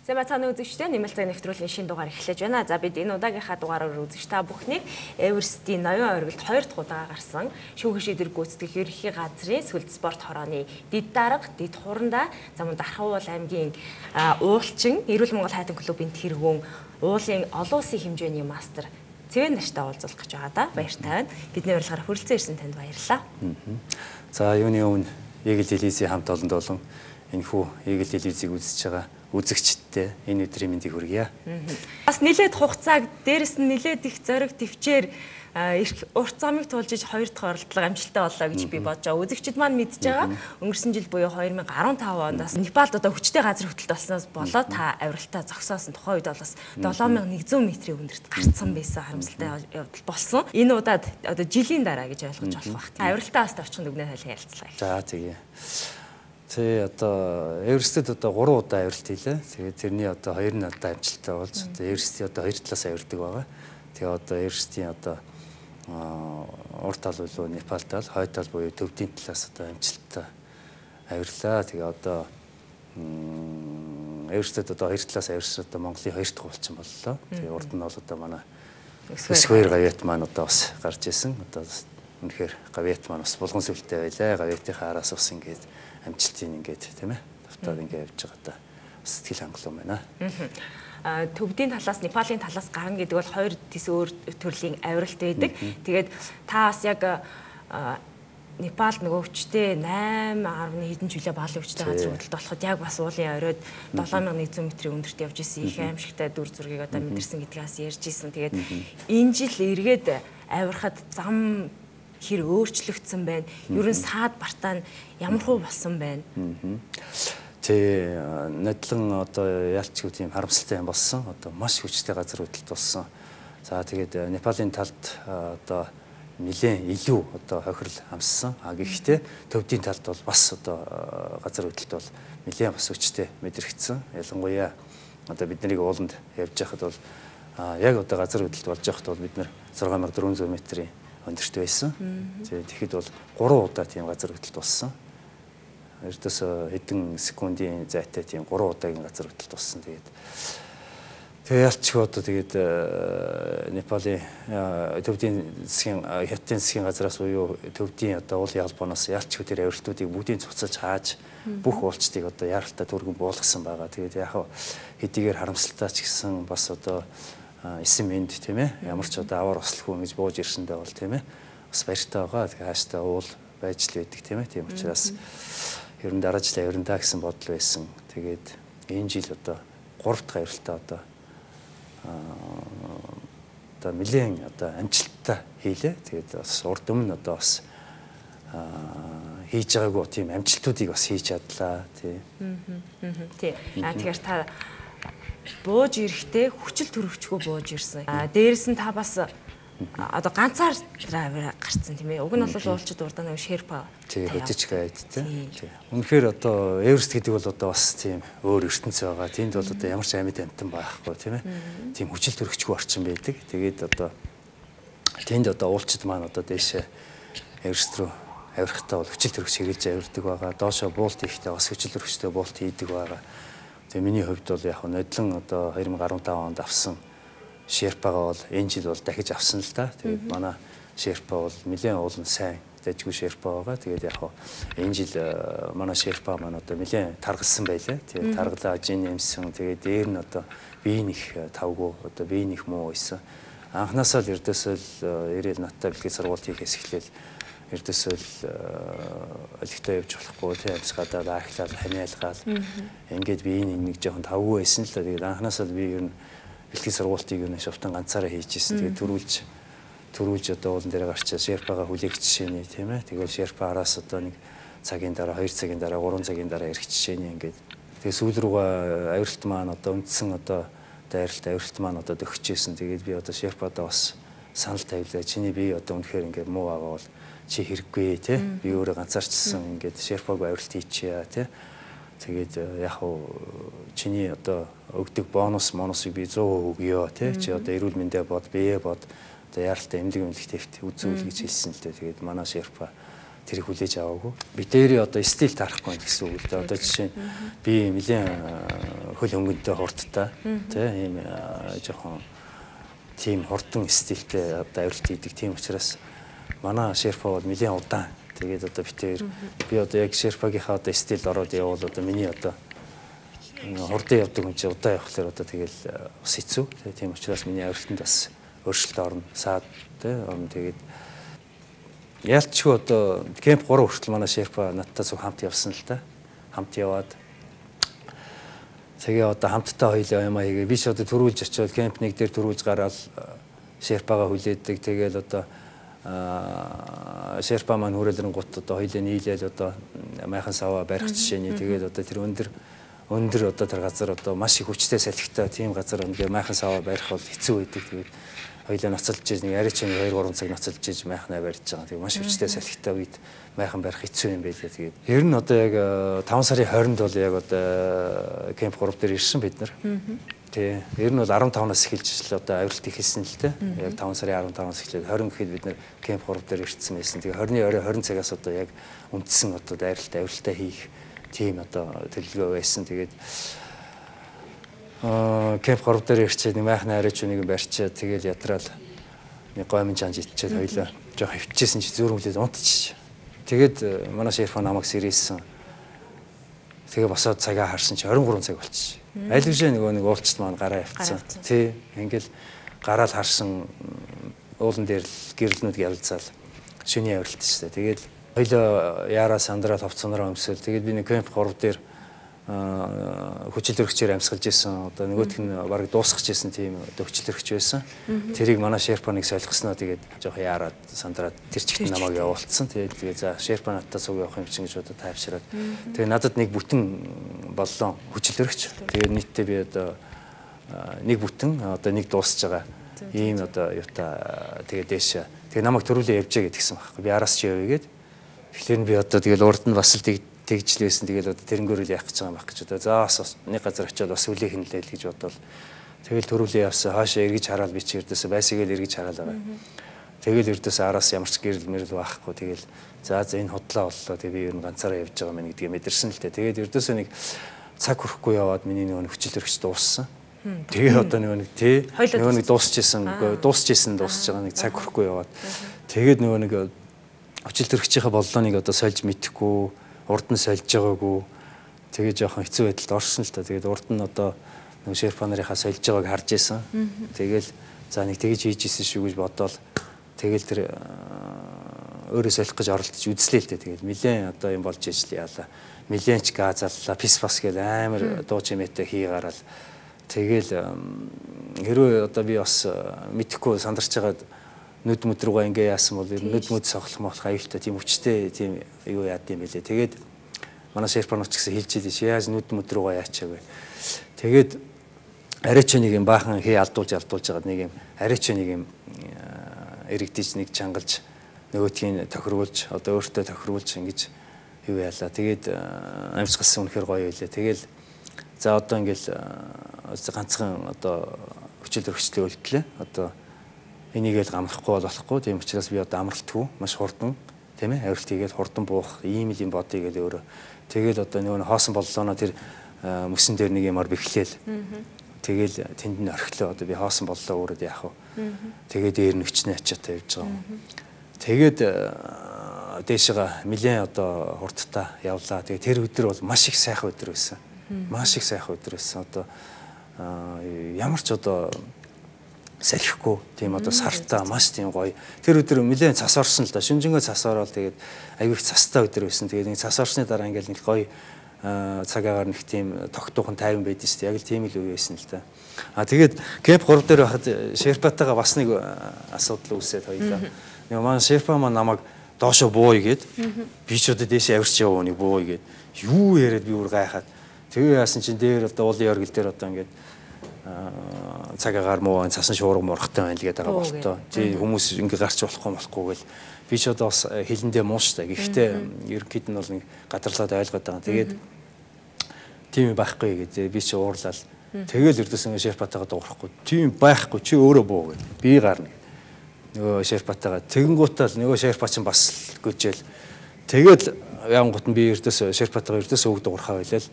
Сайн бацааны үзэгчдээ нэмэлт нэвтрүүлгийн шинэ дугаар эхлэж байна. За бид энэ удаагийнхаа дугаараар үзэгч та бүхнийг Эверестийн ноён оргилд 2 дахь удаа гарсан шүүх шийдвэр гүйцэтгэх ерөнхий газрын сүлд спорт хорооны Дэд дарга, Дэд хурандаа замун Дархавуул аймгийн уулчин Эрүүл Монгол хайтан клубын тэргүүн уулын олон улсын хэмжээний мастер Цэвэн нартай уулзах гэж байгаа да. Баяртай байна. Бидний урилгаар хүрэлцэн ирсэн танд баярлалаа. За юуны өмнө Eagle Television хамт олонд болон энэхүү Eagle Television-ийг үзэж байгаа үзэгчдтэй энэ өдрийн мэндийг хүргье. Бас нилээд хугацааг дээрэс нь нилээд их зориг төвчээр урт замыг туулж 2 дахь оролдлого амжилттай боллоо гэж би бодож байгаа. Үзэгчид маань мэдж байгаа. Өнгөрсөн жил буюу 2015 оноос Непалд одоо хүчтэй газар хөдлөлт болсноос болоод та авиралтаа зогсоосон тухайн үед бол бас 7100 метрийн өндөрт гарцсан байсан харамсалтай явдал болсон. Энэ удаад одоо жилийн дараа гэж ойлгож болох байх. Авиралтаа бас тавчхан дүгнээ хойлоо ярилцлаа. За тэгээ. Тэ одоо Эверестэд одоо 3 удаа авиралт хийлээ. Тэгээд тэрний одоо 2 нь одоо амжилттай болж одоо Эверестийн одоо 2 талаас авирдаг байгаа. Тэгээ одоо Эверестийн одоо урт тал болов Непал тал, хойд тал буюу төвдийн талаас одоо амжилттай авирлаа. Тэгээ одоо Эверестэд одоо 2 талаас авирсан одоо Монголын 2 дахь уулчин боллоо. Тэгээ урд нь бол одоо манай Эсвэр гавьяат маань одоо бас гарч исэн. Одоо үнэхээр гавьяат маань бас булган сүлтэй байлаа. Гавьяатынхаа араас бас ингээд амжилтын ингээд тийм ээ давтаад ингээд явж байгаа та сэтгэл хангалуун байна. Төвдийн талаас Непалийн талаас гарна гэдэг бол 2 тис өөр төрлийн авиралт байдаг. Тэгээд та бас яг Непалд нөгөө хүчтэй 8.10 хэдэн жилээ баалын хүчтэй газар хөдлөлт болоход яг бас уулын оройд 7100 метрийн өндөрт явж исэн их аимшигтай дүр зургийг одоо мэдэрсэн гэдгээс ярьж исэн. Тэгээд энэ жил эргээд авирахад зам хэр өөрчлөгдсөн байна. Ер нь саад бартаа ямар хуу болсон байна. Тэ надлан одоо яалчгүй тийм харамсалтай юм болсон. Одоо маш хүчтэй газар хөдлөлт болсон. За тэгээд Непалийн талд одоо нэлээд илүү одоо хохирол хамссан. Гэхдээ төвдийн талд бол бас одоо газар хөдлөлт бол нэлээд бас хүчтэй мэдрэгдсэн. Ялангуяа одоо бидний ууланд явж байхад бол яг одоо газар хөдлөлт болж байхад бол бид нэр 6400 метрийн өндөрт байсан. Тэгэхэд бол 3 удаа тийм газар хөдлөлт болсон. Эрдээс хэдэн секундын зайтай тийм 3 удаагийн газар хөдлөлт болсон. Тэгээ ялчгүй одоо тэгээд Непалийн төвдийн засгийн хятадын засгийн газраас буюу төвдийн одоо уулын албаноос ялчгүй тэр авиралтуудыг бүгдийг цуцалж хааж бүх уулчдыг одоо яаралтай түргэн буулгасан байгаа. Тэгээд яг хэдийгээр харамсалтай ч гэсэн бас одоо эсэм энд тийм ээ ямар ч одоо аваар ослохгүй ингэж бууж ирсэндээ бол тийм ээ бас баяртай байгаа. Тэгээ хааштай уул байж л байдаг тийм ээ. Тийм учраас ер нь дараа жилийн авирантаа гэсэн бодол байсан. Тэгээд энэ жил одоо 3 дахь авиралтаа одоо нэлээд одоо амжилттай хийлээ. Тэгээд бас урд өмнө одоо бас хийж байгаагүй тийм амжилтуудыг бас хийж чадлаа тий. Тий. Тэгэхээр та бууж ирэхдээ хүчил төрөвчгүй бууж ирсэн. Дээрээс нь та бас одоо ганцаар драйвер гарцсан тийм ээ. Уг нь бол уулчид урдаа нэг шерпа. Тий, хөтөч гайд тий. Үнэхээр одоо Эверест гэдэг бол одоо бас тийм өөр ертөнц байгаа. Тэнд бол одоо ямар ч амьд амтан байхгүй тийм ээ. Тийм хүчил төрөвчгүй орчин байдаг. Тэгээд одоо тэнд одоо уулчид маань одоо дээшээ Эверест рүү авирахтаа бол хүчил төрөвч хэрэгж авирдаг байгаа. Доошоо буулт хийхдээ бас хүчил төрөвчтэй буулт хийдэг байгаа. Тэгээ миний хувьд бол яг нодлон одоо 2015 онд авсан шерпагаа бол энэ жил бол дахиж авсан л да. Тэгээд манай шерпа бол нэлээд уулын сайн дэжгүй шерпа байгаа. Тэгээд яг энэ жил манай шерпа маань одоо нэлээд таргалсан байлаа. Тэгээд таргалаа жин юмсан. Тэгээд дээр нь одоо биеийн их тавгүй одоо биеийн их муу байсан. Анхнаасаа л эрдээсэл ирээл надтай бэлгийн сургууль хийхээс эхлээл эрдээсэл олигтой явж болохгүй тийм амсгаадаад архилаад ханиалгаал ингээд биеийн нэг жоохон тавгүй байсан л да. Тэгээд анхнаасаа л би ер нь бэлгийн сургуультыг юу нэг шовтон ганцаараа хийжсэн. Тэгээд төрүүлж одоо уулан дээр гарчаа шерпагаа хүлээх жишээний тийм ээ. Тэгээд шерпа араас одоо нэг цагийн дараа 2 цагийн дараа 3 цагийн дараа ирэх жишээний ингээд тэгээд сүүл рүүгээ авиралт маань одоо үндсэн одоо дайралт авиралт маань одоо дөхчихсэн. Тэгээд би одоо шерпадаа бас санал тавилаа. Чиний бие одоо үнэхээр ингээд муу байгаа бол чи хэрэггүй тий. Би өөрөө ганцаарчсан ингээд шерпагаа авиралт хийчихье тий. Тэгээд яг чиний одоо өгдөг бонусыг би 100% өгье тий. Чи одоо эрүүл мэндэ бод, бие бод, одоо яаралтай эмнэлэг эмнэлэгтэйгт үзүүл гэж хэлсэн л дээ. Тэгээд манай шерпа тэрийг хүлээж аваагүй. Би дээрээ одоо стил тарахгүй гэсэн үг л дээ. Одоо жишээ нь би нэлээд хөл хөнгөнтэй хурдтай тий ийм жоохон тийм хурдан стилтэй одоо авиралт хийдэг. Тийм учраас манай Шерпа бол нэлээд удаан. Тэгээд одоо битээр би одоо яг Шерпагийнхаа одоо стилд ороод явбал одоо миний одоо хурдан явдаг хүн чинь удаан явахлаар одоо тэгэл бас хэцүү. Тийм учраас миний авиралтанд бас өөрчлөлт орно. Саад тий орно. Тэгээд яалтчгүй одоо кемп 3 хүртэл манай Шерпа надтай зөв хамт явсан л да. Хамт яваад тэгээ одоо хамтдаа хоёлаа юм аяга би ч одоо төрүүлж очиод кемп нэг дээр төрүүлж гараад Шерпагаа хүлээдэг. Тэгээл одоо Шерпа маань хүрээлрэнгут одоо хоёлаа нийлээл одоо майхан саваа барих жишээний тэгээд одоо тэр өндөр одоо тэр газар одоо маш их хүчтэй салхитай тийм газар өндөр майхан саваа барих бол хэцүү байдаг. Тэгээд хоёлаа ноцолж нэг арич 2-3 цаг ноцолж иж майхнаа барьж байгаа. Тэгээд маш хүчтэй салхитай үед майхан барих хэцүү юм байлээ. Тэгээд ер нь одоо яг 5 сарын 20-нд бол яг одоо кемп 3 дээр ирсэн бид нар. Тий. Ер нь бол 15-наас эхэлж л одоо авиралт ихэлсэн л дээ. Яг 5 сарын 15-наас эхлээд 20 гэхэд бид нар кемп 3 дээр ирсэн байсан. Тэгээ 20-ны орой 20 цагаас одоо яг үндсэн одоо авиралтаа хийх тийм одоо төлөвлөгөө байсан. Тэгээд кемп 3 дээр ирчээд нэг майхны арайч үнийг барьчаад тэгэл ятраал нэг гомын жанж итчээд хоёлаа жоох хөвчээсэн чи зөөрмөлээд унтчих. Тэгээд манай Шерпа намайг сэрээсэн. Тэгээ босоод цагаа харсан чи 23 цаг болчих. Аль бишээ нэг уулчт маань гараа явцсан. Тий. Ингээл гараал харсан уулан дээр л гэрэлнүүд ялцаал шөнийн авиралт шүү дээ. Тэгээд хоёлоо яараа сандраа товцонороо өмсөөл. Тэгээд би нэг кемп 3 дээр хүчил төрөгчээр амьсгалж исэн. Одоо нөгөөх нь бараг дуусгаж исэн тийм одоо хүчил төрөгч байсан. Тэрийг манай Шерпа нэг солихсноо тэгээд жоох яараад сандраад тэр чигт намайг явуулсан. Тэгээд за Шерпа надтай цуг явах юм чинь гэж одоо тайвшраад. Тэгээд надад нэг бүтэн боллоо хүчил төрөгч. Тэгээд нийтдээ би одоо нэг бүтэн одоо нэг дуусж байгаа. Ийм одоо юута тэгээд дээш. Тэгээд намайг төрүүлээ явжээ гэдгсэн байхгүй. Би араас ч явъя гээд. Тэгэхээр би одоо тэгэл урд нь бас л тэгжл байсан. Тэгэл одоо тэрнгөөрөл яах гэж байгаа юм байх гэж одоо за бас нэг газар очиод бас үлээх нь л гэж бодвол тэгэл төрүүлээ явсан. Хаашаа эргэж хараад би чи эрдээсээ байсагээл эргэж хараад байгаа. Тэгэл эрдээсээ араас ямар ч гэрэл мэрэл байхгүй. Тэгэл за энэ худлаа боллоо. Тэгээ би ер нь ганцаараа явж байгаа мэн гэдгийг мэдэрсэн л дээ. Тэгээд эрдээсээ нэг цаг хүрэхгүй яваад миний нөгөө хүчил төрөгч дууссан. Тэгээ одоо нөгөө нэг тий нөгөө нэг дуусж исэн дуусж байгаа нэг цаг хүрэхгүй яваад тэгээд нөгөө нэг хүчил төрөгчийнхээ боллооныг одоо сольж мэдэхгүй урд нь сольж байгаагүй тэгээ жоохон хэцүү байдалд орсон л та. Тэгээд урд нь одоо нөгөө Шерпа нарынхаа сольж байгааг харж исэн. Тэгэл за нэг тэгж хийж исэн шүү гэж бодоол тэгэл тэр өөрөө солих гэж оролдож үзлээ л дээ. Тэгэл нилээн одоо юм болж ижил яалаа. Нилээнч газаллаа пис бас гэл амар дуу чимээтэй хий гараал. Тэгэл хэрвээ одоо би бас мэдхгүй сандарч байгаад нүд мүд рүүгээ ингээ яасан бол нүд мүд сохлох молох аюултай тийм өвчтэй тийм юу яад юм бэлээ. Тэгээд манай Шерпанууч гэсэн хэлж идэв чи яаж нүд мүд рүүгээ яачаа вэ. Тэгээд арайч нэг юм баахан хий алдуулж байгаа нэг юм арайч нэг юм эрэгдэж нэг чангалж нөгөөтгийн тохируулж одоо өөртөө тохируулж ингэж юу яалаа. Тэгээд амьсгалсан үнэхээр гоё байлаа. Тэгэл за одоо ингээл ганцхан одоо хүчил төрөгчтэй үлдлээ. Одоо энийг л гамрахгүй болохгүй. Тийм учраас би одоо амралтгүй маш хурдан тийм ээ авиралт хийгээд хурдан буух ийм л юм бодъё гэж өөрөө. Тэгэл одоо нөгөө хоосон боллооноо тэр мөсөн дээр нэг юмар бэхлээл. Тэгэл тэнд нь орхилоо. Одоо би хоосон боллоо өөрөө яах вэ? Тэгээд дээр нь өчнөө ачаатай явж байгаа юм. Тэгээд дээшээ нэлээд одоо хурдтай явлаа. Тэгээд тэр өдөр бол маш их сайхан өдөр байсан. Маш их сайхан өдөр байсан. Одоо ямар ч одоо салхихгүй тийм одоо сартаа маш тийм гоё. Тэр өдөр нэлээд цас орсон л да. Шүнжэнгөө цас ороод тэгээд аягүй их цастай өдөр байсан. Тэгээд нэг цас орсны дараа ингээл нэг гоё цагаагаар нэг тийм тогтуухан тайван байдсан шүү дээ. Яг л тийм л үе байсан л да. Тэгээд кемп 3 дээр байхад Шерпатайгаа бас нэг асуудал үүсээд хоёлаа. Нэг маань Шерпа маань намайг доошо бууя гээд би ч одоо дээшээ авирч яваа нэг бууя гээд юу яриад би бүр гайхаад тэгээ яасан чинь дээр одоо уулын оргил дээр одоо ингээд цагаагаар муу цасан шуурга мурхтай байна л гээд байгаа болтоо. Тий хүмүүс ингээ гарч болохгүй гэл би ч одоо бас хилэндээ мууштай. Гэхдээ ерөнхийд нь бол нэг гадарлаад ойлгоод байгаа. Тэгээд тийм байхгүй гэдэг би ч уурлал. Тэгэл эрдэсэн Шерпатайгаа дуурахгүй. Тийм байхгүй чи өөрөө буу гэд. Би гарна. Нөгөө Шерпатайгаа тэгэнгуутаа нөгөө Шерпа чинь бас гүжээл. Тэгээд янгут нь би эрдэс Шерпатайгаа эрдэс өг дуурхаа байлаа.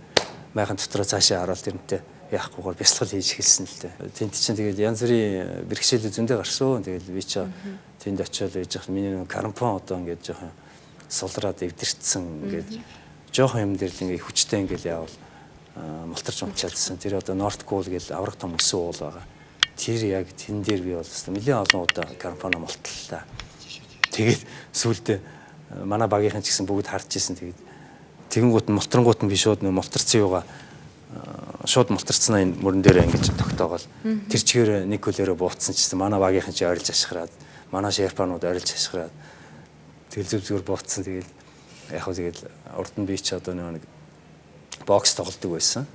Майхан дотроо цаашаа хараал тэрнтэй яахгүйгээр бясалгал хийж эхэлсэн л дээ. Тэнд чинь тэгэл янз бүрийн бэрхшээл зөндөө гарсан. Тэгэл би чи тэнд очиод байж хах миний карампон одоо ингээд жоохон сулраад эвдэрчсэн ингээд жоохон юм дээр л ингээд хүчтэй ингээд яавал мултарч унчаалсан. Тэр одоо North Goal гэж авраг том өсөн уул байгаа. Тэр яг тэн дээр би бол нэлээд олон удаа карампоно мултлаа. Тэгээд сүүлдээ манай багийнхан ч гэсэн бүгд харж ирсэн. Тэгээд тэгэнгүүт нь мултрангууд нь би шууд мултарсан юугаа шууд мултарцнаа энэ мөрөн дээр ингэж тогтоогоол тэр чигээр нэг хөлөөрөө буутсан ч гэсэн манай багийнхан ч ойрлж ашгараад манай шерпанууд ойрлж ашгараад тэгэл зүг зүгээр буутсан. Тэгэл яг хөө тэгэл урд нь би ч одоо нэг бокс тоглодог байсан.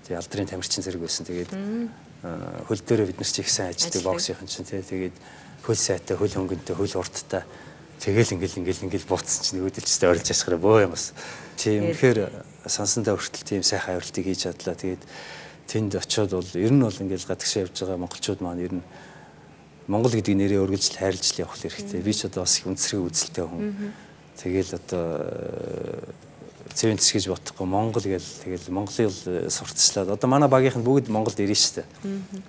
Тэгээ алдрын тамирчин зэрэг байсан. Тэгээд хөл дээрээ бид нар ч их сайн ажилладаг боксийнхан чинь тэгээд хөл сайтай, хөл хөнгөнтэй, хөл урдтай тэгэл ингээл буутсан чинь өөдөлчтэй ойрлж ашгараа бөө юм бас. Тийм үнэхээр сансандаа хүртэл тийм сайхан авиралтыг хийж чадлаа. Тэгээд тэнд очиод бол ер нь бол ингээл гадагшаа явж байгаа монголчууд маань ер нь Монгол гэдэг нэрээ өргөжл хайрлж явах хэрэгтэй. Би ч одоо бас их үндэсрэг үзэлтэй хүн. Тэгэл одоо цэвэн тэсгэж бодохгүй Монгол гэл тэгэл Монголыг сурталчлаад одоо манай багийнхан бүгд Монголд ирнэ штэ.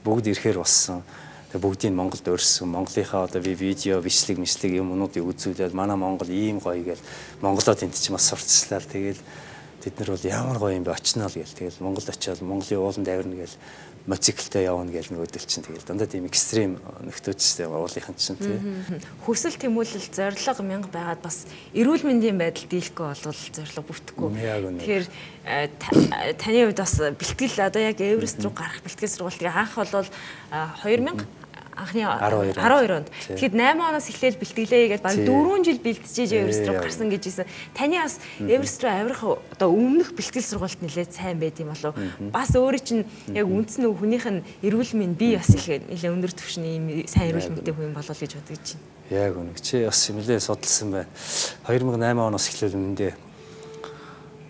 Бүгд ирэхээр болсон. Тэгээ бүгдийг Монголд өрссөн. Монголынхаа одоо би видео бичлэг юмнуудыг үзүүлээд манай Монгол ийм гоё гэл Монголоо тэнд ч бас сурталчлаад тэгэл бид нар бол ямар гоё юм бэ очноо л гээл тэгэл Монгол очиод Монголын ууланд авирна гээл моциклтэй явна гээл нөгөөдөл чинь тэгэл дандаа тийм экстрим нөхдөжтэй уулынхан чинь тий. Хүсэл тэмүүлэл зориг 1000 байгаад бас эрүүл мэндийн байдал дийлэхгүй болвол зориг бүтэхгүй. Тэгэхээр таны хувьд бас бэлтгэл одоо яг Эверест рүү гарах бэлтгэл сургалтыг анх бол 2000 анхны 12 онд. Тэгэхэд 8 оноос эхлээл бэлтгэлээ гээд баг 4 жил бэлтжиж Эверест рүү гарсан гэж хэлсэн. Таны бас Эверест рүү авирах одоо өмнөх бэлтгэл сургалт нэлээд сайн байд юм болов. Бас өөрөө чинь яг үндсэн хүнийх нь эрүүл мэнд бие бас их нэлээд өндөр түвшний юм сайн эрүүл мэндтэй хүн болов гэж бодож байна. Яг үнэ. Чи бас нэлээд судалсан байна. 2008 оноос эхлээл үнэндээ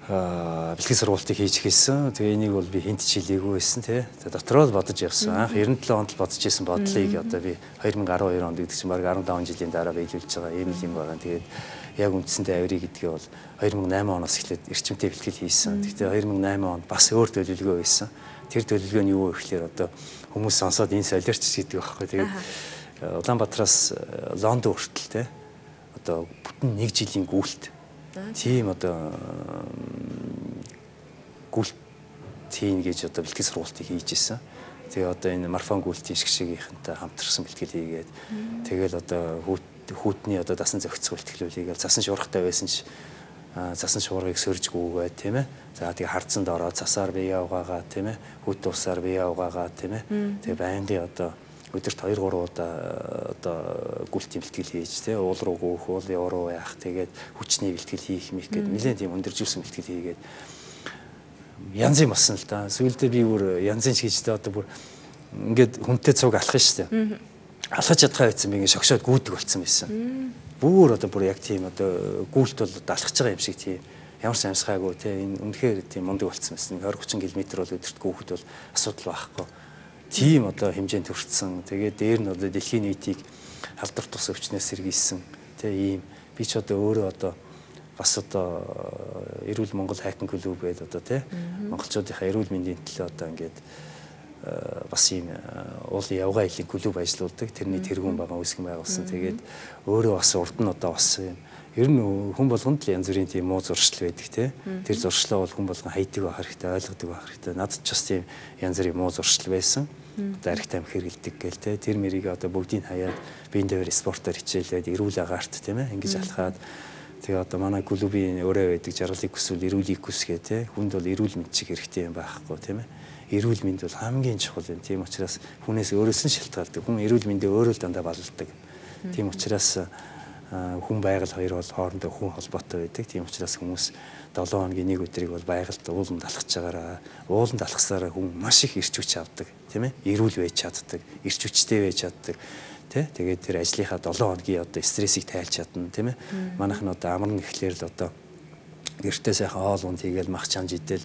бэлтгэл сургалтыг хийж эхэлсэн. Тэгээ энийг бол би хинт ч хэлээгүй байсан тий. Тэгээ дотроо л бодож явсан. Анх 97 онд л бодож исэн бодлыг одоо би 2012 онд гэдэг чинь баг 17 жилийн дараа биелүүлж байгаа юм байгаа. Тэгээд яг үндсэндээ авирыг гэдгээ бол 2008 оноос эхлээд эрчимтэй бэлтгэл хийсэн. Гэхдээ 2008 онд бас өөр төлөвлөгөө байсан. Тэр төлөвлөгөө нь юу вэ гэхээр одоо хүмүүс сонсоод энэ солиорч гэдэг байхгүй. Тэгээд Улаанбаатараас Лондон хүртэл тий. Одоо бүтэн 1 жилийн гүйлт тийм одоо гүйлт tiin гэж одоо бэлтгэл сургалтыг хийж исэн. Тэгээ одоо энэ марафон гүйлтийн шгшигийнхэнтэй хамтарсан бэлтгэл хийгээд тэгэл одоо хүүтний одоо дасан зохицох бэлтгэлүүдийг засан шуургатай байсан ч засан шуургыг сөржгүүгээ тийм ээ. За тэгээ хардсанд ороод цасаар бие угаагаа тийм ээ. Хүүт усаар бие угаагаа тийм ээ. Тэгээ байнгын одоо өдөрт 2-3 удаа одоо гүйлтийн бэлтгэл хийж тий уул руу гоох, уулын уруу яах тэгээд хүчний бэлтгэл хийх мэх гэдэг нэлээд тийм өндөржүүлсэн бэлтгэл хийгээд янз юм болсон л да. Сүүлдээ би бүр янзын шигжтэй одоо бүр ингээд хүнтэй цуг алах штэ. Алхаж чадхаа байсан би ингээд шогшоод гүйдэг болсон байсан. Бүр одоо бүр яг тийм одоо гүйлт бол алхаж байгаа юм шиг тийм ямар ч амсгаагүй тий энэ үнэхээр тийм мундаг болсон байсан. 20-30 км бол өдөрт гүйхэд бол асуудал байхгүй. Тийм одоо хэмжээнд хүрсэн. Тэгээд дээр нь одоо дэлхийн нийтийг халдвар тус өвчнөөс сэргийлсэн. Тэ ийм би ч одоо өөрөө одоо бас одоо эрүүл Монгол хайкинг клуб гэдэг одоо тий монголчуудынхаа эрүүл мэндийн төлөө одоо ингээд бас ийм уулын явгаа илийн клуб ажиллаулдаг. Тэрний тэргүүн байгаа үүсгэн байгуулсан. Тэгээд өөрөө бас урд нь одоо бас юм ер нь хүн болгонд л янз бүрийн тийм муу зуршил байдаг тий. Тэр зуршлаа бол хүн болгон хайдаг байх хэрэгтэй, ойлгодог байх хэрэгтэй. Надад ч бас тийм янз бүрийн муу зуршил байсан. Одоо арх тамхи хэрэгэлдэг гээл тий. Тэр мэрийг одоо бүгдийг хаяад биеийн дээр спортоор хичээлээд эрүүл агаарт тийм ээ ингэж алхаад тэгээ одоо манай клубын өөрөө байдаг жаргалыг хүсвэл эрүүлийг хүсгээ тий. Хүнд бол эрүүл мэнд чиг хэрэгтэй юм байхгүй тийм ээ. Эрүүл мэнд бол хамгийн чухал юм. Тийм учраас хүнээс өөрөөс нь шалтгаалдаг. Хүн эрүүл мэндээ өөрөө дандаа балладаг. Тийм учраас хүн байгаль хоёр бол хоорондоо хүн холбоотой байдаг. Тийм учраас хүмүүс 7 хоногийн нэг өдрийг бол байгальд ууланд алхаж байгаараа ууланд алхасаараа хүн маш их эрч хүч авдаг тийм ээ. Эрүүл байж чаддаг, эрч хүчтэй байж чаддаг тий. Тэгээд тэр ажлынхаа 7 хоногийн одоо стрессийг тайлж чадна тийм ээ. Манайх нь одоо амар нэхлээр л одоо гэртээ сайхан хоол унд хийгээл мах чанж идэл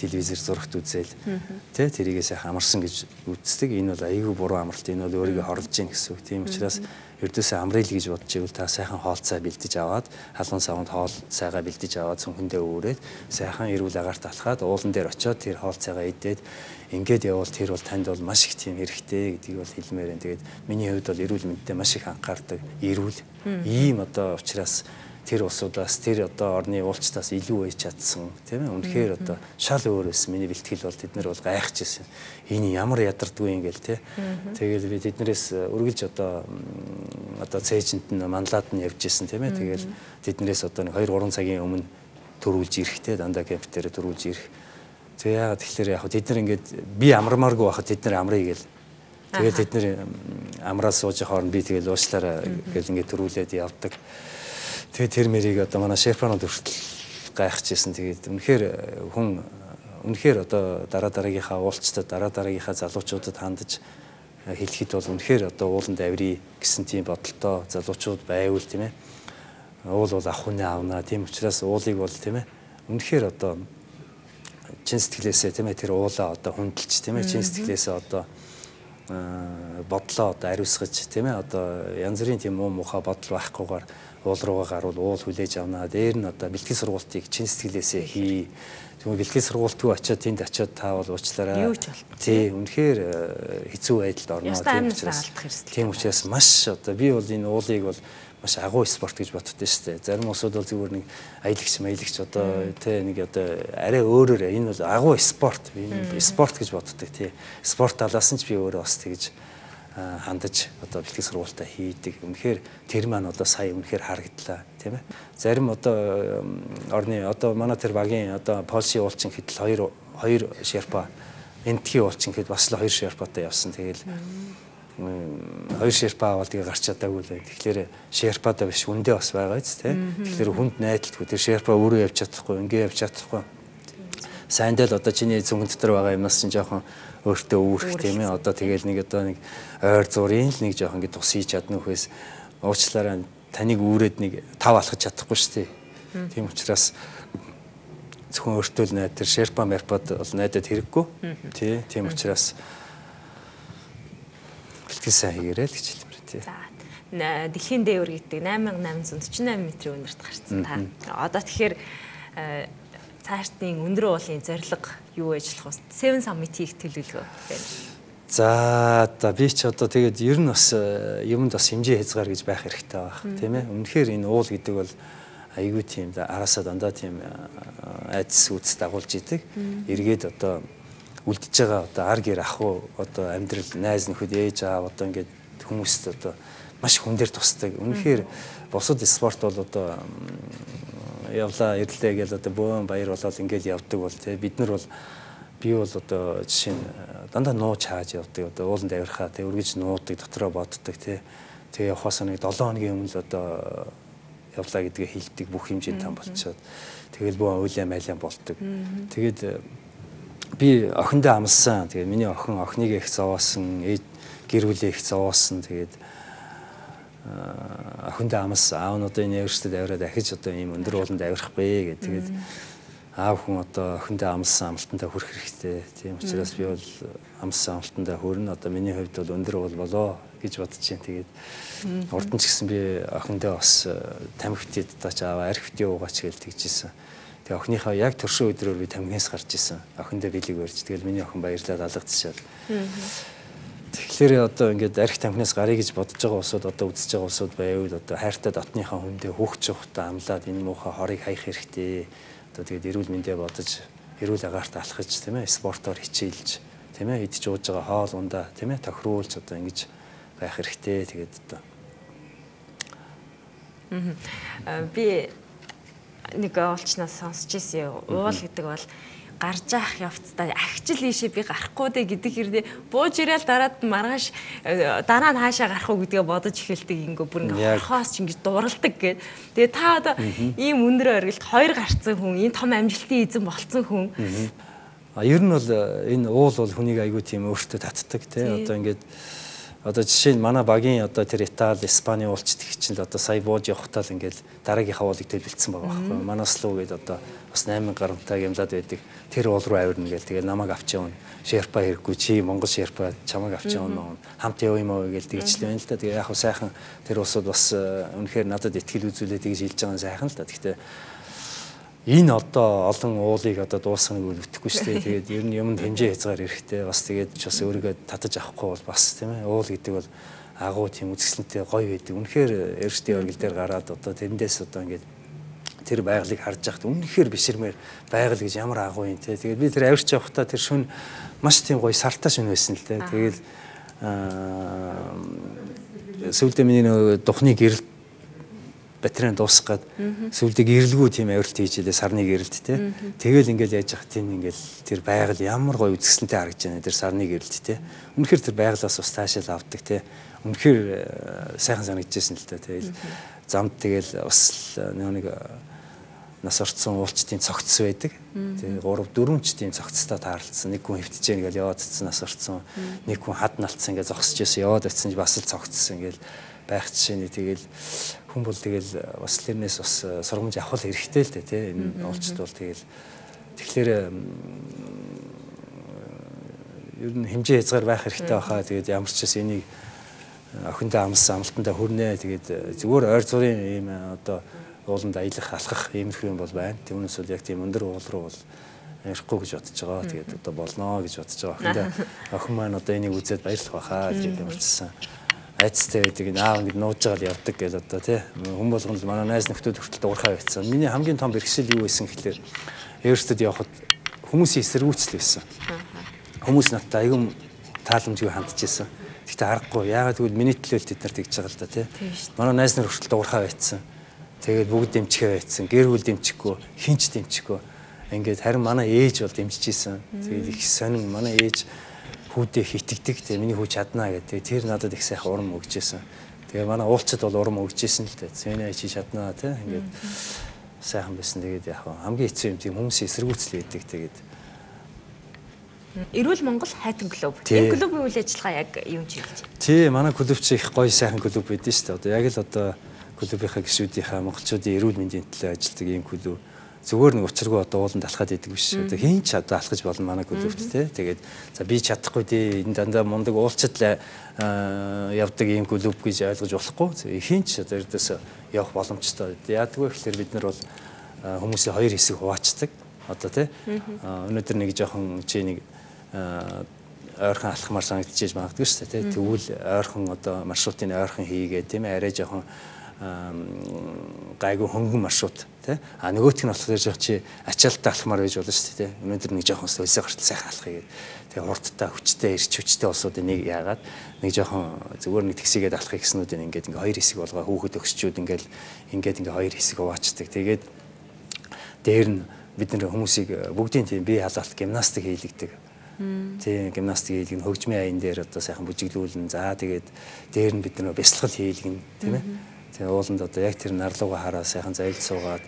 телевизээр зурагт үзэл тий тэрийгээ сайхан амарсан гэж үздэг. Энэ бол аягүй буруу амралт. Энэ бол өөрийгөө хорлож гин гэсэн үг. Тийм учраас ердөөсөө амрал гэж бодож ивэл та сайхан хоол цай бэлдэж аваад халуун савнд хоол цайгаа бэлдэж аваад цүнхэндээ өөрөөд сайхан эрүүл агаарт алхаад уулан дээр очиод тэр хоол цайгаа идээд ингээд явбал тэр бол танд бол маш их тийм хэрэгтэй гэдгийг бол хэлмээр байна. Тэгээд миний хувьд бол эрүүл мэндэд маш их анхаардаг. Эрүүл ийм одоо учраас тэр улсуудаас тэр одоо орны уулзтаас илүү байж чадсан тийм ээ. Үнэхээр одоо шал өөрөөс миний бэлтгэл бол тэд нар бол гайхаж ирсэн. Энэ ямар ядардгүй юм гээл тий. Тэгэл би тэднэрээс үргэлж одоо цээжинд нь манлаад нь явж исэн тийм ээ. Тэгэл тэднэрээс одоо 2-3 цагийн өмнө төрүүлж ирэхтэй дандаа кемп дээр төрүүлж ирэх. Тэгээ яагаад тэгэхээр яг тэд нар ингээд би амармааргүй байхад тэд нар амрыг гээл. Тэгээд тэд нар амраад сууж хооронд би тэгэл уучлаарай гэл ингээд төрүүлээд явдаг. Тэгээ тэр мэрийг одоо манай шефронод хүртэл гайхажсэн. Тэгээд үнэхээр одоо дараагийнхаа уулзтад дараагийнхаа залуучуудад хандаж хэлэхэд бол үнэхээр одоо ууланд авирий гэсэн тийм бодолтой залуучууд байвал тийм ээ. Уул бол ах хүнээ авнаа. Тийм учраас уулыг бол тийм ээ. Үнэхээр одоо чин сэтгэлээсээ тийм ээ тэр уулаа одоо хүндэлж тийм ээ чин сэтгэлээсээ одоо бодлоо одоо ариусгаж тийм ээ одоо янз бүрийн тийм муухай бодол байхгүйгээр уул руугаа гарвал уул хүлээж авнаа. Дээр нь одоо бэлтгэл сургалтыг чин сэтгэлээсээ хий. Тэгвэл бэлтгэл сургалтгүй очиод тэнд очиод таавал уучлаарай. Тий, үнэхээр хэцүү байдалд орно. Тийм учраас маш одоо би бол энэ уулыг бол маш агуу спорт гэж боддоо шүү дээ. Зарим усуд бол зүгээр нэг аялагч одоо тий нэг одоо арай өөрөөр энэ бол агуу спорт. Энэ спорт гэж боддог тий. Спорт талаас нь ч би өөрөө бас тэгж хандаж одоо бэлтгэл сургалтаа хийдэг. Үнэхээр тэр маань одоо сая үнэхээр харагдлаа тийм ээ. Зарим одоо орны одоо манай тэр багийн одоо Польшийн уулчин хэдэл хоёр шерпа энтхийн уулчин хэд бас л 2 шерпатай явсан. Тэгэл 2 шерпа аваад тэгээ гарч чадаагүй л байна. Тэгэхээр шерпатай биш үндэ бас байгаа биз тийм. Тэгэхээр хүнд найдалтгүй тэр шерпа өөрөө явж чадахгүй, ингээ явж чадахгүй. Сайндаа л одоо чиний зүгэн дотор байгаа юмнаас чинь жоохон өөртөө үүрэх тийм ээ. Одоо тэгэл нэг ойр зургийн л нэг жоохон ингэ тус хийж чадна үхээс уучлаарай таныг үүрээд нэг тав алхаж чадахгүй шүү дээ. Тийм учраас зөвхөн өөртөө л найд тэр шерпа мерпад бол найдад хэрэггүй. Тий. Тийм учраас бэлтгэл сайн хийгээрэй л гэж хэлмээр тий. За. Дэлхийн дээвэр гэдэг 8848 метрийн үнэрт гарсан та. Одоо тэгэхээр цаашдын өндөр уулын зорилго юу ажиллах вэ? 7 summit хийх төлөвлөгөө байна. За би ч одоо тэгээд ер нь бас юмд бас хэмжээ хязгаар гэж байх хэрэгтэй байх тийм ээ. Үнэхээр энэ уул гэдэг бол айгүй тийм араасаа дандаа тийм айдас үүс дагуулж идэг. Эргээд одоо үлдэж байгаа одоо ар гэр ахуу одоо амьдрал найз нөхөд ээж аав одоо ингээд хүмүүст одоо маш хүн дээр тусдаг. Үнэхээр бусад спорт бол одоо явлаа ирлээ гэж одоо бөөн баяр болоод ингээд явдаг бол тий бид нар бол би бол одоо жишээ нь дандаа нууж хааж явдаг одоо ууланд авирхаа тий үргэж нуудаг дотроо боддог тий тэгээ явахаас нэг 7 хоногийн өмнө л одоо явлаа гэдгээ хэлдэг бүх хэмжээнд там болчиход тэгэл бөөн уйлаа майлаа болдог. Тэгээд би охиндоо амлсан. Тэгээд миний охиныг их зовоосон, гэр бүлээ их зовоосон. Тэгээд охиндоо амлсан. Аав нь одоо энэ явжтад авираад дахиж одоо ийм өндөр ууланд авирах бэ гэдэг. Тэгээд аав хүн одоо охиндоо амлсан амлалтандаа хүрэх хэрэгтэй. Тийм учраас би бол амлсан амлалтандаа хүрнэ. Одоо миний хувьд бол өндөр уул болоо гэж бодож байна. Тэгээд урд нь ч гэсэн би охиндоо бас тамхитд таач аваа арх битээ уугаач гэж тэгжсэн. Тэгээ охиныхаа яг төршөө өдрөөр би тамхинаас гарч исэн. Охиндоо бэлэг барьж. Тэгэл миний охин баярлаад алгадчихшаад. Тэгэхээр одоо ингээд арх тамхинаас гарыг гэж бодож байгаа улсууд одоо үзэж байгаа улсууд байвал одоо хайртай дотныхаа хүндээ хүүхч ухтаа амлаад энэ муухай хорыг хаях хэрэгтэй. Одоо тэгээд эрүүл мэндэ бодож эрүүл агаарт алхаж тийм ээ спортоор хичээлж тийм ээ идж ууж байгаа хоол ундаа тийм ээ тохируулж одоо ингэж байх хэрэгтэй. Тэгээд одоо би нэг олчнаас сонсч ирсэн. Уул гэдэг бол гарч явах явцдаа агчил ийшээ би гарахгүй дээ гэдэг хэрнээ бууж ирээл дараад маргааш дараа нь хаашаа гарах уу гэдгээ бодож эхэлдэг ингээ бүр ингээ хорхоос ч ингээ дуралдаг гэд. Тэгээ та одоо ийм өндөр оргилд 2 гарцсан хүн, энэ том амжилтын эзэн болцсон хүн. Ер нь бол энэ уул бол хүнийг айгүй тийм өөртөө татдаг тий. Одоо ингээд Одоо жишээ нь манай багийн одоо тэр Итали, Испани уулзт их чинь л одоо сая бууж явахтаа л ингээл дараагийнхаа уулыг төлөвлөсөн байгаа байхгүй. Манаас л үгээд одоо бас 8000 гаруйтай гямлаад байдаг. Тэр уул руу авирна гээл тэгээ намайг авч явна. Шерпа хэрэггүй чи Монгол шерпа чамайг авч явна. Хамт явъя мó гээл тэгж л байна л да. Тэгээ яг хөө сайхан тэр усуд бас үнэхээр надад итгэл үзүүлээд тэгж хэлж байгаа нь сайхан л да. Гэхдээ энэ одоо олон уулыг одоо дуусгахыг үлдэхгүй шүү дээ. Тэгээд ер нь юмд хэмжээ хязгаар эрэхтэй бас тэгээд ч бас өөрийгөө татаж авахгүй бол бас тийм ээ. Уул гэдэг бол агуу тийм үзэсгэлэнтэй гоё байдаг. Үнэхээр эрсдийн оргил дээр гараад одоо тэрэндээс одоо ингээд тэр байгалыг харж яхад үнэхээр биширмээр байгаль гэж ямар агуу юм те. Тэгээд би тэр авирч явахдаа тэр шүн маш тийм гоё сартаа шүн байсан л дээ. Тэгээд сүүлдээ миний нөгөө духны гэрэл батарейн дуусгаад сүлдэг ирэлгүй тийм авиралт хийж илээ сарны гэрэлт те. Тэгэл ингээл яаж яах тийм ингээл тэр байгаль ямар гоё үзэсгэлэнтэй харагдаж байна тэр сарны гэрэлт те. Үнэхээр тэр байгалаас бас таашаал авдаг те. Үнэхээр сайхан санагдчихсэн л та. Тэгэл замд тэгэл бас нэг нас орцсон уулчдын цогцс байдаг. Тэгээ 3 4 ч тийм цогцтой таарлцсан. Нэг хүн хөвтөж яаг ингээл яваад цэцэн нас орцсон. Нэг хүн хад налцсан ингээд зогсож яасан яваад очсон бас л цогцсон ингээл байх жишээний тэгэл хүн бол тэгэл бас тэрнээс бас сургамж авах хэрэгтэй л дээ тий энэ уулчд бол тэгэл тэгэхээр ер нь хэмжээ хязгаар байх хэрэгтэй байхаа тэгээд ямар ч бас энийг охиндоо амлсан амлалтандаа хүрнэ тэгээд зүгээр ойр зургийн ийм одоо ууланд аялах алхах иймэрхүү юм бол байна. Түүнээс бол яг тийм өндөр уул руу бол ярихгүй гэж бодож байгаа. Тэгээд одоо болно гэж бодож байгаа. Охиндоо охин маань одоо энийг үзээд баярлах байхаа гэж ямарчсан. Айцтай байдаг аав ингэ нууж байгаа л явдаг гэж одоо тий хүн болгон л манай найз нөхдөд хүртэл дуурхай байцсан. Миний хамгийн том бэрхшээл юу байсан гэхэлээ Эверстэд явхад хүмүүсийн эсэргүүцэл байсан. Хүмүүс надтай аюун тааламжгүй хандж ирсэн. Гэхдээ аргагүй яагаад гэвэл миний төлөөлт бид нар тэгж байгаа л да тий. Манай найз нар хүртэл дуурхай байцсан. Тэгээд бүгд дэмжихээ байцсан. Гэр бүл дэмжихгүй, хинч дэмжихгүй. Ингээд харин манай ээж бол дэмжиж исэн. Тэгээд их сонин манай ээж хүүдээ хитгдэг. Тэгээ миний хүү чаднаа гэдэг. Тэр надад их сайхан урам өгчээсэн. Тэгээ манай уулчд бол урам өгчээсэн л дээ. Зэний чи чаднаа тий. Ингээд сайхан байсан. Тэгээд яг хамгийн хэцүү юм тийм хүмүүсийн эсэргүүцэл байдаг. Тэгээд Эрүүл Монгол хайтан клуб. Энэ клубын үйл ажиллагаа яг юу чиглэж байна? Тий, манай клуб чи их гоё сайхан клуб байдсан шүү дээ. Одоо яг л одоо клубийнхаа гишүүдийнхаа монголчуудын эрүүл мэндийн төлөө ажилладаг ийм клуб. Зүгээр нэг учиргүй одоо ууланд алхаад идэг биш. Одоо хийн ч одоо алхаж болно манай клубт тий. Тэгээд за би чадахгүй дээ энэ дандаа мундаг уулчд явдаг ийм клуб гэж ойлгож болохгүй. Хийн ч одоо эрдээс явах боломжтой. Яадгүй гэхээр бид нар бол хүмүүсийн хоёр хэсэг хуваачдаг. Одоо тий. Өнөөдөр нэг жоохон чи нэг ойрхон алхмаар санагдчихэж магадгүй шүү дээ тий. Тэгвэл ойрхон одоо маршрутын ойрхон хийгээд тийм ээ арай жоохон гайгүй хөнгөн маршрут тий. А нөгөөх нь болохоор жоох чи ачаалттай алхмаар байж болно шүү дээ тий. Өнөөдөр нэг жоохон сөлсөө гартал сайхан алхахыг тэгээ хурдтай хүчтэй эрч хүчтэй улсуудын нэг яагаад нэг жоохон зүгээр нэг тэгсийгээд алхах гэснүүдийн ингээд хоёр хэсэг болгоо хүүхэд өгсчүүд ингээд хоёр хэсэг хуваачдаг. Тэгээд дээр нь бид нэр хүмүүсийг бүгдийн тийм бие халаалт гимнастик хийлэгдэг. Тийм гимнастик хийлгэн хөгжмийн аян дээр одоо сайхан бүжиглүүлэн за тэгээд дээр нь бид нэр бясалгал хийлгэн тийм ээ. Тэгээ ууланд одоо яг тэр нарлууга хараа сайхан зайл суугаад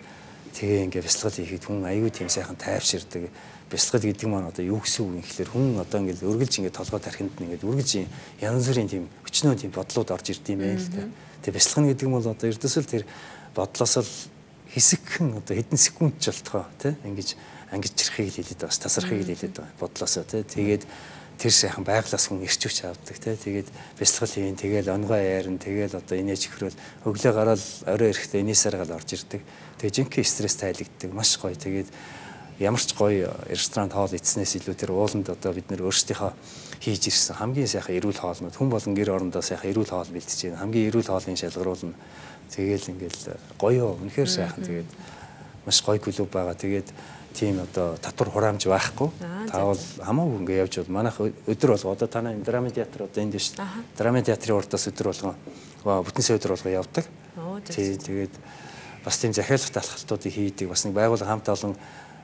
тэгээ ингээ бясалгал хийхэд хүн аюу тийм сайхан тайвширдаг. Бясалгал гэдэг маань одоо юу гэсэн үг юм гэхэлэр хүн одоо ингээ үргэлж ингээ толгой тархинд нь ингээ үргэлж янз бүрийн тийм өчнөө тийм бодлууд орж ирд юм байна л да. Тэгээ бясалгал гэдэг нь бол одоо эрдэсэл тэр бодлоос л хэсэгхэн одоо хэдэн секунд ч болтгоо тий ингэж ангижрахыг л хэлээд байгаа. Тасрахыг л хэлээд байгаа. Бодлоосоо тий тэгээд тэр сайхан байглаас хүн ирч хүч авдаг тий тэгээд бясалгал хийн тэгээд онгой яарн тэгээд одоо инээж ихрүүл өглөө гараад орой ирэхдээ инээсээр гал орж ирдэг. Тэгээд жинхэнэ стресс тайлагддаг. Маш гоё. Тэгээд ямар ч гоё ресторан хоол идснээс илүү тэр ууланд одоо бид нэр өөрсдийнхөө хийж ирсэн хамгийн сайхан эрүүл хоолнууд хүн болон гэр орондоо сайхан эрүүл хоол бэлтэж байна. Хамгийн эрүүл хоолны шалгаруулна. Тэгээл ингээл гоё үнэхээр сайхан тэгээд маш гоё клуб байгаа. Тэгээд тийм одоо татвар хураамж байхгүй. Таавал хамаагүй ингээ явж бол манайх өдөр болго одоо танай драмын театр одоо энд шүү дээ. Драмын театрын урдаас өдөр болгоо бүтэн сая өдөр болгоо явдаг. Тэгээд бас тийм захиалгат алхалтуудыг хийдэг. Бас нэг байгууллага хамт олон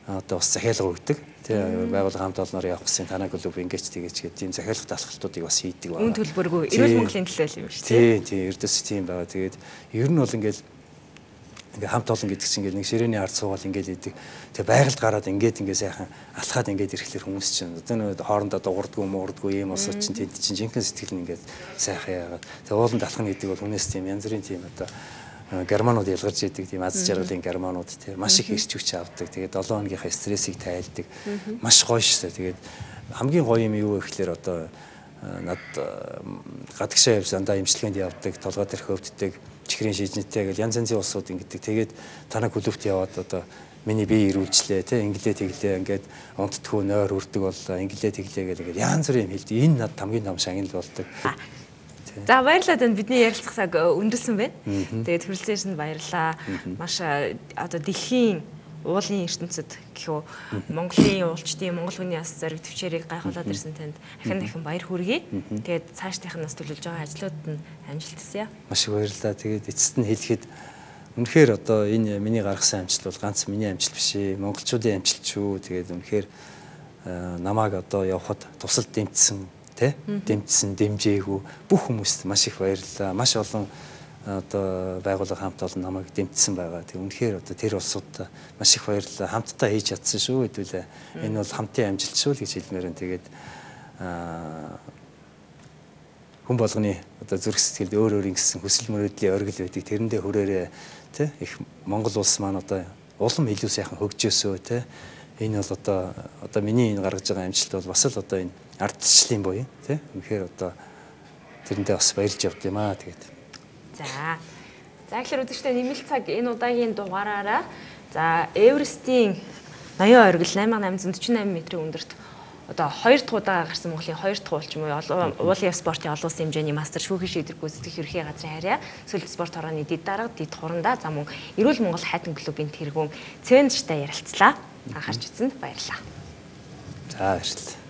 одоо бас захиалга өгдөг. Тэгээ байгууллага хамт олноор явах гэсэн танай клуб ингэж тэгээд тийм захиалгат алхалтуудыг бас хийдэг байна. Үн төлбөргүй эрүүл Монголын төлөө юм шүү дээ. Тийм эрдэс тийм байгаа. Тэгээд ер нь бол ингээл ингээ хамт олон гэдэг чинь ингээ нэг ширээний ард суугаад ингээ идэг. Тэгээ байгальд гараад ингээ сайхан алхаад ингээ ирэхлээр хүмүүс чинь одоо нэг хоорондоо дуурдгүй муурдгүй юм осоо чинь тэнд чинь жинхэнэ сэтгэл нь ингээ сайхан яагаад. Тэгээ ууланд алхах гэдэг бол хүнээс тийм янз бүрийн тийм одоо германууд ялгарч идэг тийм аз жаргалын германууд тийм маш их ирч хүч авдаг. Тэгээд 7 хоногийнхаа стрессийг тайлдаг. Маш гоё шээ. Тэгээд хамгийн гоё юм юу вэ гэхээр одоо над гадагшаа явж дандаа имчилгээнд явдаг, толгой дээр хөвддөг, чихрийн шижнэтэй гэл янз янзын улсууд ингэдэг. Тэгээд танаа клубт яваад одоо миний бие ирүүлжлээ те инглээ тэглээ ингээд унтдаггүй нойр үрдэг боллоо инглээ тэглээ гэл ингээд янз бүрийн юм хэлдэг. Энэ над хамгийн том шагнал болдог. За баярлалаа танд бидний ярилцах цаг өндөрлсөн байна. Тэгээд хүрэлцээнд баярлалаа. Маш одоо дэлхийн уулын ертөнцид гэхүү Монголын уулчдын Монгол хүний яс зориг төвчээрийг гайхуулаад ирсэн танд дахин баяр хүргэе. Тэгээд цаашдынх нь бас төлөвлөж байгаа ажлууд нь амжилт хүсье. Маш их баярлалаа. Тэгээд эцэст нь хэлэхэд үнэхээр одоо энэ миний гаргасан амжилт бол ганц миний амжилт биш ээ. Монголчуудын амжилт шүү. Тэгээд үнэхээр намайг одоо явхад тусал дэмжсэн дэмжсэн дэмжээгүү бүх хүмүүст маш их баярлалаа. Маш олон одоо байгууллага хамт олон намайг дэмжсэн байгаа. Тэг үнэхээр одоо тэр улсуудаа маш их баярлалаа. Хамтдаа хийж чадсан шүү хэдүүлээ. Энэ бол хамтын амжилт шүү л гэж хэлмээр байна. Тэгээд хүн болгоны одоо зүрх сэтгэлд өөр ингэсэн хүсэл мөрөөдлийн оргил байдаг. Тэрэндээ хүрээрээ тий их Монгол улс маань одоо улам илүү сайхан хөгжөөсөө тий энэ бол одоо миний энэ гаргаж байгаа амжилт бол бас л одоо энэ ардчлалын буюу тий үнэхээр одоо тэрэндээ бас баярлж явд юм аа. Тэгээд за тэгэхээр үзэгчдээ нэмэлт цаг энэ удаагийн дугаараараа за Эверестийн ноён оргил 8848 м-ийн өндөрт одоо 2 дахь удаа гарсан Монголын 2 дахь уулч буюу уулын спортын олон улсын хэмжээний мастер шүүхийн шийдвэр гүйцэтгэх ерхий газрын харьяа сүлд спорт хорооны дид дарга дид хурандаа за мөн эрүүл Монгол хайтан клубын тэргүүн Цэвэнжтэй ярилцлаа. Анхаарч үзсэнд баярлалаа. За баярлалаа.